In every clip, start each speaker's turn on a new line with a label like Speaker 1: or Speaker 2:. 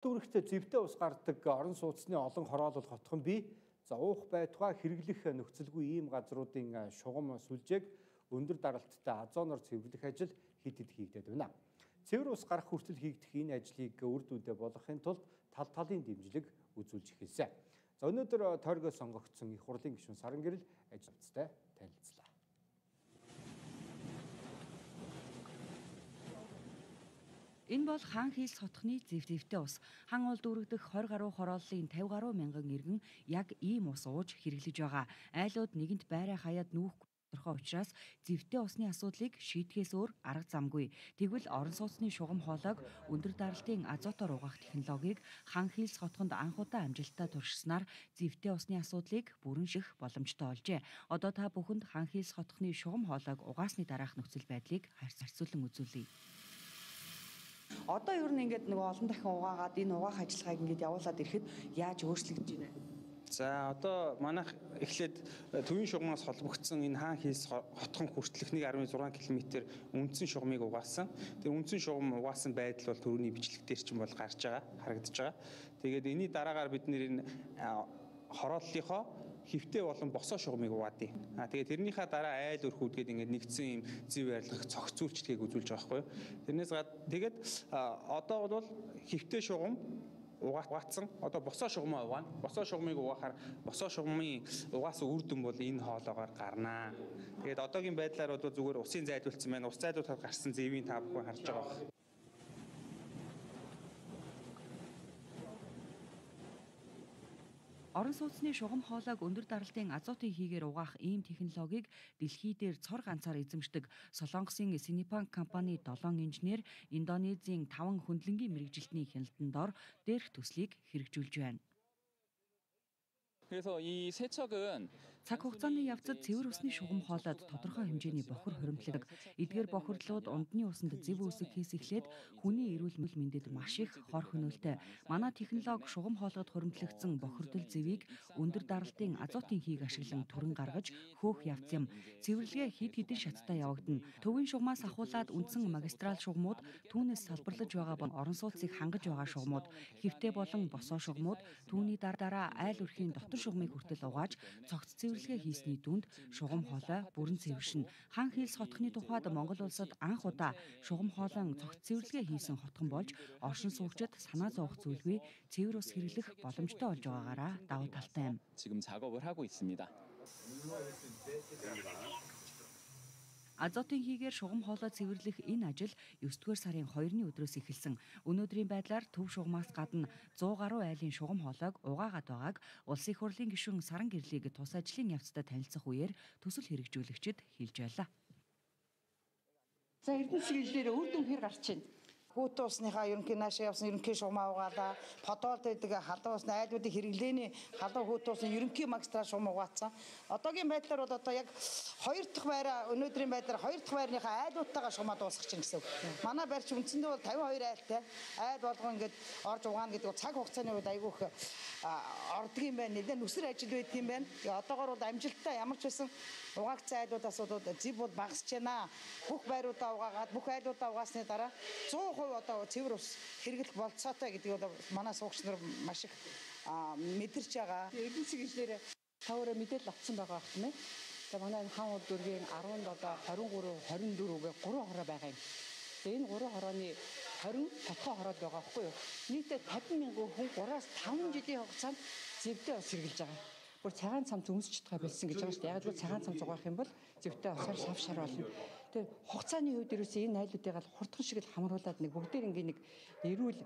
Speaker 1: Дүүрэгтээ зэвтэй ус гардаг орон сууцны олон хороолол хотхон бий. За уух байтугай хэрэглэх нөхцөлгүй ийм газруудын шугам сүлжээг өндөр даралттай азоноор цэвэрлэх ажил хэд хэд хийгдээд байна. Цэвэр ус гарах хүртэл хийгдэх энэ ажлыг үр дүндээ болгохын тулд талын дэмжлэг үзүүлж эхэлсэн. За өнөөдөр тойргоо сонгогдсон их хурлын гишүүн Саран Гэрэл ажилтнтай танилцлаа.
Speaker 2: Энэ бол хаан хийс хотхны зэвтэй ус. Хан улд үргэх 20 гаруй хорооллын 50 гаруй мянган иргэн яг ийм ус ууж хэрэглэж байгаа. Айлууд нэгэнт байраа хаяад нүүхгүй тодорхой учраас зэвтэй усны асуудлыг шийдэхээс өөр арга замгүй. Тэгвэл орон сууцны шугам хоолойг өндөр даралтын азотоор угаах технологиг хан хийс хотхонд анх удаа амжилттай туршснаар зэвтэй усны асуудлыг бүрэн ших боломжтой олжээ. Одоо та бүхэнд хан хийс хотхны шугам хоолойг угаасны дараах нөхцөл байдлыг харьцуулан үзүүлье. Одоо ер нь ингээд нөгөө олон дахин угаагаад энэ угаах ажиллагааг ингээд явуулаад ирэхэд яаж өөрчлөгдөж байна?
Speaker 3: За одоо манайх эхлээд төвийн шугамаас холбогдсон энэ хаан хийс хотхон хүртэлх 1.6 км үндсэн шугамыг угаасан. Тэр үндсэн шугам угаасан байдал бол төрөний бичлэгтэр чинь бол гарч байгаа, харагдаж байгаа. Тэгээд энэний дараагаар бид нэр энэ хорооллынхоо хөвтэй болон босоо шугамыг угаадیں۔ Тэгээд тэрнийхээ дараа айл өрхүүдгээд ингээд нэгдсэн юм зэв байрлах цогцүүлчдгийг үзүүлж байгаа байхгүй юу. Тэрнээс тэгээд одоо бол хөвтэй шугам угаацсан. Одоо босоо шугамаа угаана. Босоо шугамыг угаахаар босоо шугамын угаасан үр дүн бол энэ хоолоогоор гарнаа. Тэгээд одоогийн байдлаар бол зүгээр усын зайдуулсан байна. Ус зайдуулахад гарсан зэвийн та бүхэн харж байгаа.
Speaker 2: Орон сууцны шугам хоолойг өндөр даралтын азотын хийгээр угаах ийм технологиг дэлхий дээр цор ганцаар эзэмшдэг Солонгосын Sinopec компани 7 инженер Индонезийн 5 хөндлөнгийн мэргэжилтний хяналтанд ор дээрх төслийг хэрэгжүүлж байна.
Speaker 4: 그래서 이 세척은
Speaker 2: цаг хугацааны явцад цэвэр усны шугам хоолойд тодорхой хэмжээний бохор хоримтлагдаг. Эдгээр бохирлууд ундны усанд зэв үсгэхээс эхлээд хүний эрүүл мэндэд маш их хор хөнөөлтэй. Манай технологи шугам хоолойд хоримтлагдсан бохирдол зэвийг өндөр даралтын азотын хийг ашиглан түрэн гаргаж хөөх явц юм. Цэвэрлэгээ хэд хэдэн шаттай явагдана. Төвийн шугамаас ахуулаад үндсэн магистрал шугамууд, түүнээс салбарлаж байгаа орон сууцыг хангаж байгаа шугамууд, хэвтэй болон босоо шугамууд, түүний дараа айл өрхийн дотор шугамыг хүртэл угааж цогц цэвэрлэгээ хийсний дүнд шугам хоолой бүрэн цэвэршин. Хан хийс хотхны тухайд Монгол улсад анх удаа шугам хоолойн цогц цэвэрлэгээ хийсэн хотхон болж оршин суугчид санаа зовох зүйлгүй цэвэр ус хэрэглэх боломжтой болж байгаагаараа давуу талтай юм.
Speaker 4: 지금 작업을 하고 있습니다.
Speaker 2: Азотын хийгээр шугам хоолой цэвэрлэх энэ ажил 9-р сарын 2-ны өдрөөс эхэлсэн. Өнөөдрийн байдлаар төв шугамаас гадна 100 гаруй айлын шугам хоолойг угаагаад байгааг Улсын их хурлын гишүүн Саран Гэрлийг тус ажлын явцдаа танилцах үеэр төсөл хэрэгжүүлэгчид хэлж байлаа.
Speaker 5: За эрдэнэ чиглэлээр үр дүн хэр гарч байна? Хүүт усныхаа ерөнхий наашаа явсан ерөнхий шугамаа угаалаа. Подоолд байдаг халуун усны айлуудын хэрэглээний халуун хүүт усны ерөнхий магистрал шугам угаацсан. Одоогийн байдлаар бол одоо яг 2 дахь байраа өнөөдрийн байдлаар 2 дахь байрныхаа айлуудтайгаа шугамаа дуусгах чинь гэсэн үг. Манай байр чи үндсэндээ бол 52 айлтай. Айл болгон ингээд орж угаана гэдэг цаг хугацааны үед айгүйх ордог юм байна. Нэлээд нүсэр ажил байдаг юм байна. Одоогоор бол амжилттай ямар ч байсан угаагцсан айлуудаас бол зэв бол багасч байна. Бүх байруудаа угаагаад бүх айлуудаа угаасны дараа 100% одоо цэвэр ус хэрэглэх болцоотой гэдгийг бол манай суугч нар маш их мэдэрч байгаа. Эрдэнэ чиглэлээр таваараа мэдээлэл авсан байгаа юм байна. За манай хаан улд дүүргийн 17, 23, 24 гэх 3 хороо байгаа юм. Энэ 3 хорооны 20 тодорхой хороод байгаа байхгүй юу? Нийтдээ 50 мянган хүн 3-аас 5 жилийн хугацаанд зэвтэй ус хэрэглэж байгаа. Бүр цагаан цамц өмсч чадгаа болсон гэж байгаа шүү дээ. Яг л цагаан цамц угаах юм бол зэвтэй усаар савшаар болно. Тэгээ хугацааны хувьд ерөөсөө энэ айлуудыг л хурдхан шиг л хамруулад нэг бүгдээр ингээ нэг эрүүл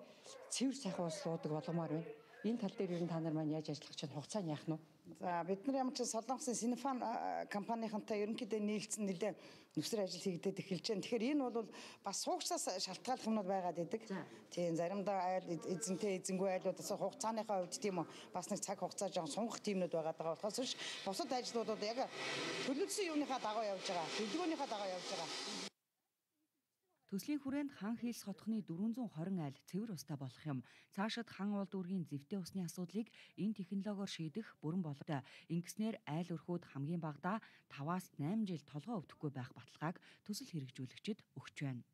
Speaker 5: цэвэр сайхан ус уудаг болгомоор байна. Энэ тал дээр ер нь та нар маань яаж ажиллах чинь хугацаа нь яах нь вэ? За бид нар ямар ч Солонгосын Sinopec компанийнхантай ерөнхийдөө нийлцэн нэлээ нүсэр ажил хийгдээд эхэлж байна. Тэгэхээр энэ бол бас суугчаас шалтгааллах юмнууд байгаад идэг. Тийм заримдаа айл эзэнтэй эзэнгүй айлуудаас хугацааныхаа хувьд тийм үү бас нэг цаг хугацаа жоон сунгах тиймнүүд байгаад байгаа болохоос биш бусад ажлуудад яг төлөвлөсөн юмныхаа дагуу явж байгаа. Төлөвлөгөөнийхөө дагуу явж байгаа.
Speaker 2: Төслийн хүрээнд хан хийс хотхны 420 айл цэвэр устай болох юм. Цаашид хан улд дүүргийн зэвтэй усны асуудлыг энэ технологиор шийдэх бүрэн боломжтой. Ингэснээр айл өрхүүд хамгийн багадаа 5-8 жил толгой өвдөхгүй байх баталгааг төсөл хэрэгжүүлэгчид өгч байна.